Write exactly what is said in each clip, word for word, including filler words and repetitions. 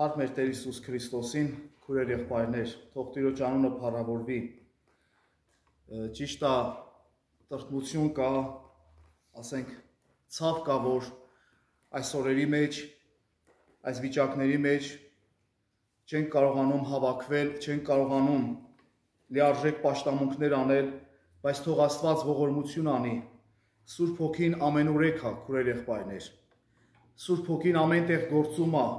Հարկ մեր Տեր Հիսուս Քրիստոսին, քուրեր եղբայրներ, թող Տիրոջ անունը փառավորվի։ Ճիշտ է, տրտմություն կա, ասենք, ցավ կա, որ այս օրերի մեջ, այս վիճակների մեջ չենք կարողանում հավաքվել, չենք կարողանում լիարժեք պաշտամունքներ անել, բայց թող Աստված ողորմություն անի։ Սուրբ Հոգին ամենուրեք է, քուրեր եղբայրներ։ Սուրբ Հոգին ամեն տեղ գործում է։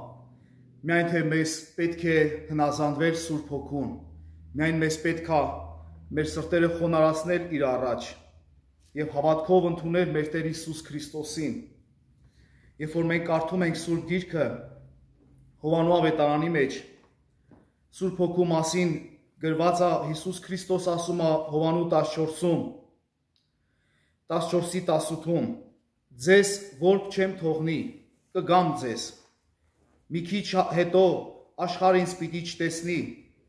Միայն թե մեզ պետք է հնազանդվել Սուրբ Հոգուն, միայն մեզ պետք է մեր սրտերը խոնարհացնել իր առաջ եւ հավատքով ընդունել մեր Տեր Հիսուս Քրիստոսին։ Երբ որ մենք կարդում ենք Սուրբ Գիրքը Հովանու ավետարանի մեջ, Սուրբ Հոգու մասին գրված է, Հիսուս Քրիստոս ասում է Հովանու տասնչորսում, տասնչորսի տասնութում, ձեզ որբ չեմ թողնի, կգամ ձեզ։ Մի քիչ հետո աշխարհը ինձ պիտի չտեսնի,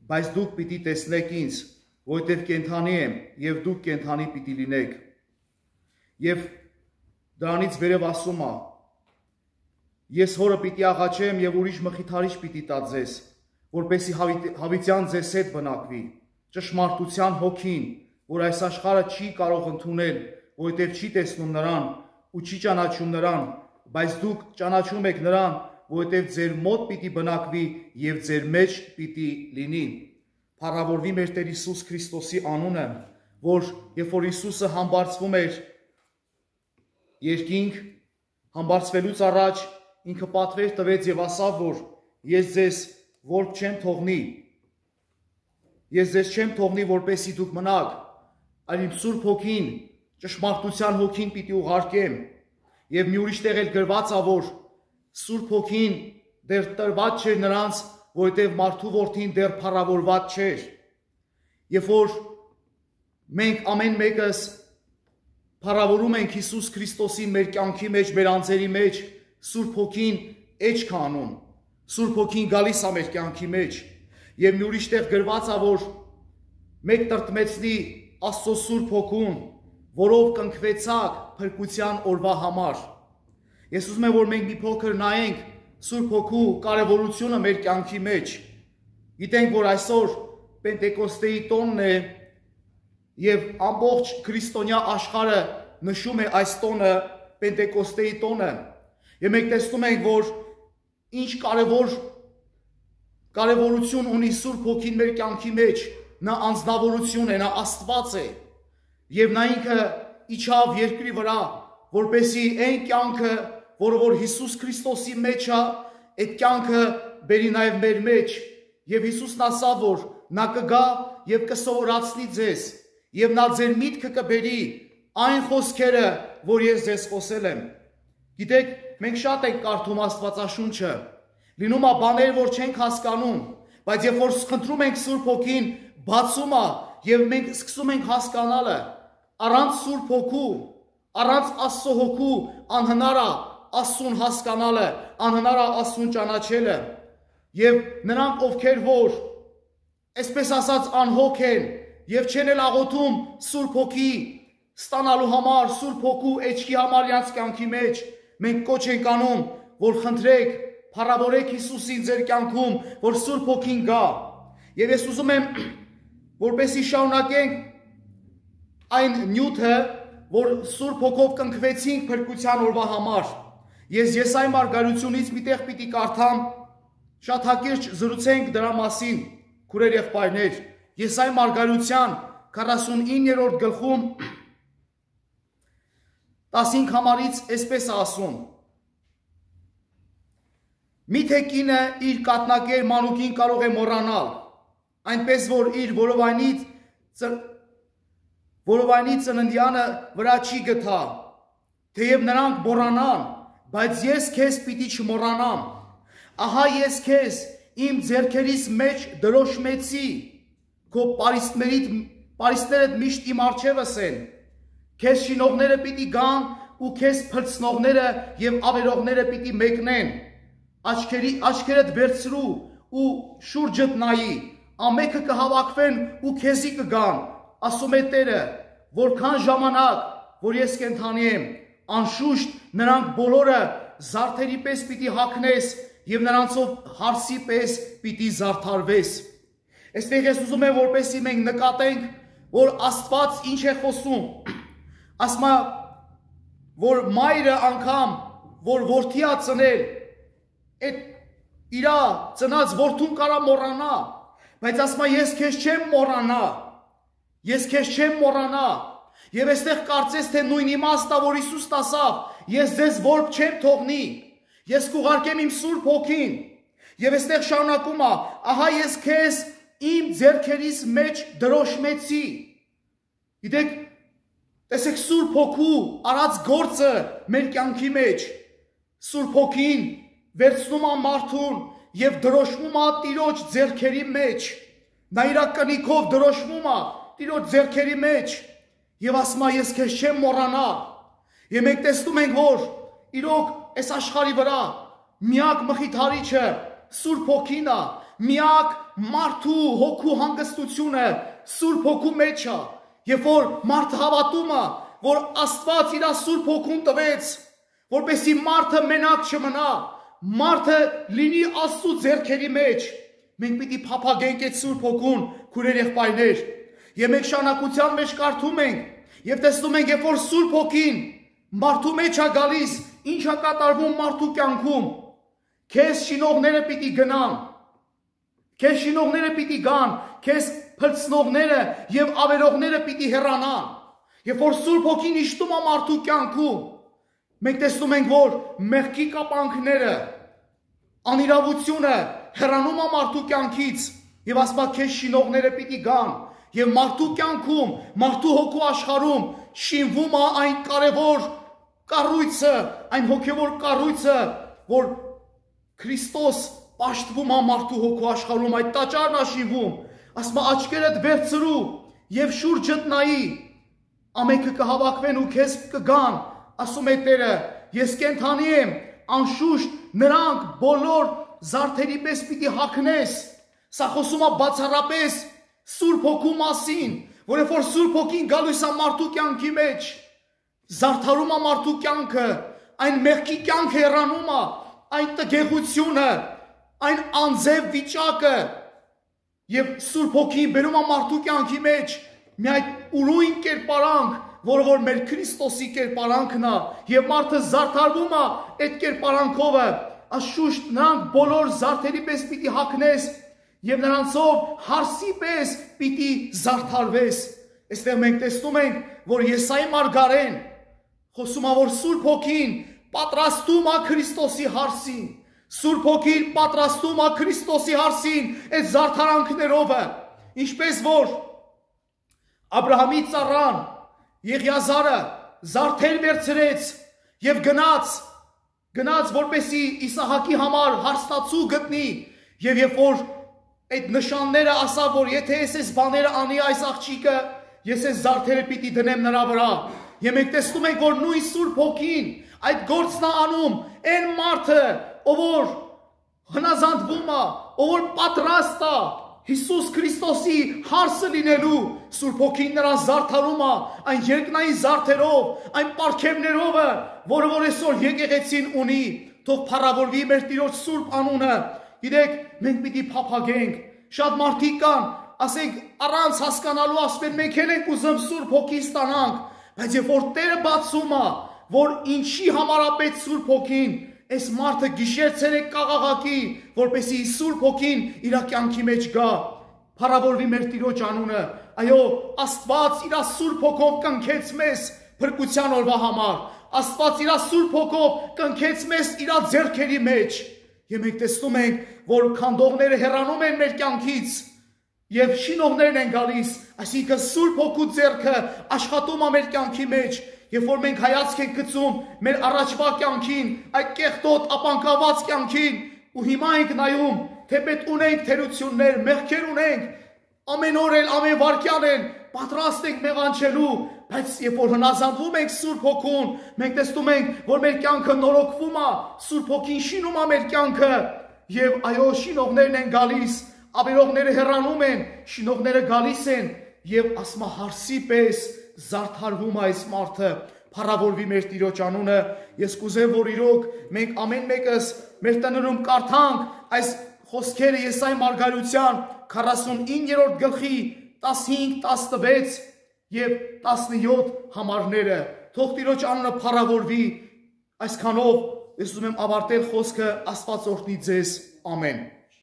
բայց դուք պիտի տեսնեք ինձ, որովհետև կենդանի եմ եւ դուք կենդանի պիտի լինեք։ Եվ դրանից վերև ասում է. ես հորը պիտի աղաչեմ եւ ուրիշ մխիթարիչ պիտի տա ձեզ, որպեսզի հավիտյան ձեզ հետ բնակվի, ճշմարտության հոգին, որ այս աշխարհը չի կարող ընդունել, որովհետև չի տեսնում նրան ու չի ճանաչում նրան, բայց դուք ճանաչում եք նրան, որովհետև ձեր մոտ պիտի բնակվի եւ ձեր մեջ պիտի լինի։ Փառավորվի մեր Տեր Հիսուս Քրիստոսի անունը, որ երբ որ Հիսուսը համբարձվում էր երկինք, համբարձվելուց առաջ ինքը պատվեր տվեց եւ ասավ, որ ես ձեզ որբ չեմ թողնի, ես ձեզ չեմ թողնի, որպեսզի դուք մնաք, այլ իմ Սուրբ Հոգին, ճշմարտության Հոգին պիտի ուղարկեմ։ Եվ մի ուրիշ տեղ էլ գրված է, որ Սուրբ Հոգին դեռ տրված չէր նրանց, որովհետև մարդու որդին դեռ փառավորված չէր։ Երբ որ մենք ամեն մեկս փառավորում ենք Հիսուս Քրիստոսին մեր կյանքի մեջ, մեր անձերի մեջ, Սուրբ Հոգին էջ քանում, Սուրբ Հոգին գալիս է մեր կյանքի մեջ։ Եվ մի ուրիշ տեղ գրված է, որ մեկ տրտմեցնի Աստծո Սուրբ Հոգուն, որով կնքվեցաք փրկության օրվա համար։ Ես ուզում եմ, որ մենք մի փոքր նայենք Սուրբ Հոգու կարևորությունը մեր կյանքի մեջ։ Գիտենք, որ այսօր Պենտեկոստեի տոնն է եւ ամբողջ քրիստոնյա աշխարհը նշում է այս տոնը, Պենտեկոստեի տոնը։ Եվ մենք տեսնում ենք, որ ինչ կարևոր կարևորություն ունի Սուրբ Հոգին մեր կյանքի մեջ։ Նա անձնավորություն է, նա Աստված է։ Եվ նա ինքը իջավ երկրի վրա, որպեսզի այն կյանքը, որը որ Հիսուս Քրիստոսի մեջ է, այդ կյանքը բերի նաև մեր մեջ։ Եվ Հիսուսն ասավ, որ նա կգա եւ կսովորացնի ձեզ, եւ նա ձեր միտքը կբերի այն խոսքերը, որ ես ձեզ խոսել եմ։ Գիտեք, մենք շատ ենք կարդում Աստվածաշունչը, լինում է բաներ, որ չենք հասկանում, բայց երբ որ խնդրում ենք Սուրբ Հոգին, բացում է եւ մենք սկսում ենք հասկանալը, առանց Սուրբ Հոգու, առանց Աստծո Հոգու անհնար է Աստծուն հասկանալը, անհնար է Աստծուն ճանաչելը։ Եվ նրանք, ովքեր որ, այսպես ասած, անհոգ են եւ չեն էլ աղոթում Սուրբ Հոգի ստանալու համար, Սուրբ Հոգու էջքի համար իրենց կյանքի մեջ, մենք կոչ ենք անում, որ խնդրեք, փառավորեք Հիսուսին ձեր կյանքում, որ Սուրբ Հոգին գա։ Եվ ես ուզում եմ, որպեսզի շարունակենք այն նյութը, որ Սուրբ Հոգով կնքվեցինք փրկության օրվա համար։ Ես Եսայի մարգարությունից մի տեղ պիտի կարդամ, շատ հակիրճ զրուցենք դրա մասին, քուրեր եղբայրներ։ Եսայի մարգարության քառասունիններորդ գլխում տասնհինգ համարից այսպես է ասում. Միթե կինը իր կաթնակեր մանուկին կարող է մոռանալ, այնպես որ իր որովայնից որովայնի ծննդյանը վրա չի գթա, թեև նրանք մոռանան, բայց ես քեզ պիտի չմոռանամ։ Ահա ես քեզ իմ ձեռքերիս մեջ դրոշմեցի, քո պարիսպներդ միշտ իմ առջևս են, քեզ շինողները պիտի գան ու քեզ փրցնողները եւ ավերողները պիտի մեկնեն, աչքերդ վերցրու ու շուրջդ նայի, ամենքը կհավաքվեն ու քեզի կգան, ասում է Տերը, որքան ժամանակ, որ ես կենդանի եմ, անշուշտ նրանք բոլորը զարդերի պես պիտի հագնես եւ նրանցով հարսի պես պիտի զարդարվես։ Այստեղ ես ուզում եմ որպեսզի մենք նկատենք, որ Աստված ինչ է խոսում։ Ասում է, որ մայրը անգամ, որ որդի է ծնել, այդ իր ծնած որդուն կարա մոռանա, բայց ասում է ես քեզ չեմ մոռանա, ես քեզ չեմ մոռանա։ Եվ այստեղ կարծես թե նույն իմաստը, որ Հիսուսն ասավ, ես ձեզ որբ չեմ թողնի, ես կուղարկեմ իմ Սուրբ Հոգին։ Եվ այստեղ շարունակում է, ահա ես քեզ իմ ձեռքերիս մեջ դրոշմեցի։ Գիտեք, տեսեք Սուրբ Հոգու արած գործը մեր կյանքի մեջ, Սուրբ Հոգին վերցնում է մարդուն եւ դրոշմում է Տիրոջ ձեռքերի մեջ։ Նա իր կնիքով դրոշմում է Տիրոջ ձեռքերի մեջ եւ ասում է ես քեզ չեմ մոռանա։ Եվ մենք տեսնում ենք, որ իրոք այս աշխարհի վրա միակ մխիթարիչը Սուրբ Հոգին է, միակ մարդու հոգու հանգստությունը Սուրբ Հոգու մեջ է։ Երբ որ մարդը հավատում է, որ Աստված իր Սուրբ Հոգուն տվեց, որպեսզի մարդը մենակ չմնա, մարդը լինի Աստծո ձեռքերի մեջ, մենք պիտի փափագենք այդ Սուրբ Հոգուն, քուրեր եղբայրներ։ Եվ մենք շարունակության մեջ կարդում ենք եւ տեսնում ենք, երբ որ Սուրբ Հոգին մարդու մեջ է գալիս, ինչ է կատարվում մարդու կյանքում։ Քեզ շինողները պիտի գնան, քեզ շինողները պիտի գան, քեզ փլցնողները եւ ավերողները պիտի հեռանան։ Երբ որ Սուրբ Հոգին իշխում է մարդու կյանքում, մենք տեսնում ենք, որ մեղքի կապանքները, անիրավությունը հեռանում է մարդու կյանքից եւ ասում է քեզ շինողները պիտի գան։ Եվ մարդու կյանքում, մարդու հոգու աշխարհում շինվում է այն կարևոր կառույցը, այն հոգևոր կառույցը, որ Քրիստոս պաշտվում է մարդու հոգու աշխարհում, այդ տաճարն է շինվում։ Ասում է աչքերդ վերցրու եւ շուրջդ նայի, ամենքը կհավաքվեն ու քեզ կգան, ասում է Տերը, ես կենթանի եմ, անշուշտ նրանք բոլոր զարդերի պես պիտի հագնես։ Սա խոսում է բացառապես Սուրբ Հոգու մասին, որը որ Սուրբ Հոգին գալիս է մարդու կյանքի մեջ, զարդարում է մարդու կյանքը, այն մեղքի կյանքը հեռանում է, այն տգեղությունը, այն անձև վիճակը, եւ Սուրբ Հոգին բերում է մարդու կյանքի մեջ մի այդ ուրույն կերպարանք, որը որ մեր Քրիստոսի կերպարանքն է, եւ մարդը զարդարվում է այդ կերպարանքով, անշուշտ նրանք բոլոր զարդերի պես պիտի հագնես եւ նրանցով հարսի պես պիտի զարդարվես։ Այստեղ մենք տեսնում ենք, որ Եսայի մարգարեն խոսում է, որ Սուրբ Հոգին պատրաստում է Քրիստոսի հարսին, Սուրբ Հոգին պատրաստում է Քրիստոսի հարսին այդ զարդարանքներով, ինչպես որ Աբրահամի ծառան Եղիազարը զարդեր վերցրեց եւ գնաց, գնաց որպեսի Իսահակի համար հարստացու գտնի, եւ երբ որ այդ նշանները ասա, որ եթե ես այս բաները անի այս աղջիկը, ես այս զարդերը պիտի դնեմ նրա վրա։ Եվ մենք տեսնում ենք, որ նույն Սուրբ Հոգին այդ գործն է անում, այն մարդը, ով որ հնազանդվում է, ով որ պատրաստ է Հիսուս Քրիստոսի հարսը լինելու, Սուրբ Հոգին նրան զարդարում է այն երկնային զարդերով, այն պարգևներով, որը որ այսօր եկեղեցին ունի, թող փառավորվի մեր Տիրոջ Սուրբ անունը։ Գիտեք, մենք պիտի փափագենք, շատ մարդիկ կան, ասենք առանց հասկանալու ասում են մենք էլ ենք ուզում Սուրբ Հոգի ստանանք, բայց երբ որ Տերը բացում է, որ ինչի համար է պետք Սուրբ Հոգին, այս մարդը գիշեր-ցերեկ կաղաղակի, որպեսզի Սուրբ Հոգին իր կյանքի մեջ գա, փառավորվի մեր Տիրոջ անունը։ Այո, Աստված իր Սուրբ Հոգով կնքեց մեզ փրկության օրվա համար, Աստված իր Սուրբ Հոգով կնքեց մեզ իր ձեռքերի մեջ։ Եվ մենք տեսնում ենք, որ քանդողները հեռանում են մեր կյանքից եւ շինողներն են գալիս, այսինքն Սուրբ Հոգու ձեռքը աշխատում է մեր կյանքի մեջ, երբ որ մենք հայացք ենք գցում մեր առաջվա կյանքին, այդ կեղտոտ ապանկաված կյանքին, ու հիմա ենք նայում, թե պետք ունենք թերություններ, մեղքեր ունենք, ամեն օր էլ, ամեն վարքյան էլ պատրաստ ենք մեղանչելու, բայց երբ որ հնազանդվում ենք Սուրբ Հոգուն, մենք տեսնում ենք, որ մեր կյանքը նորոգվում է, Սուրբ Հոգին շինում է մեր կյանքը, եւ այո, շինողներն են գալիս, ավերողները հեռանում են, շինողները գալիս են, եւ ասма հարսի պես զարդարվում է այս մարդը, փառավորվի մեր Տիրոջ անունը։ Ես կուզեմ, որ իրոք մենք ամեն մեկս մեր տներում կարդանք այս խոսքերը Եսայի մարգարեության քառասունիններորդ գլխի տասնհինգ, տասնվեց եւ տասնյոթ համարները։ Թող Տիրոջ անունը փառավորվի։ Այսքանով ես ուզում եմ ավարտել խոսքը, Աստված օրհնի ձեզ։ Ամեն։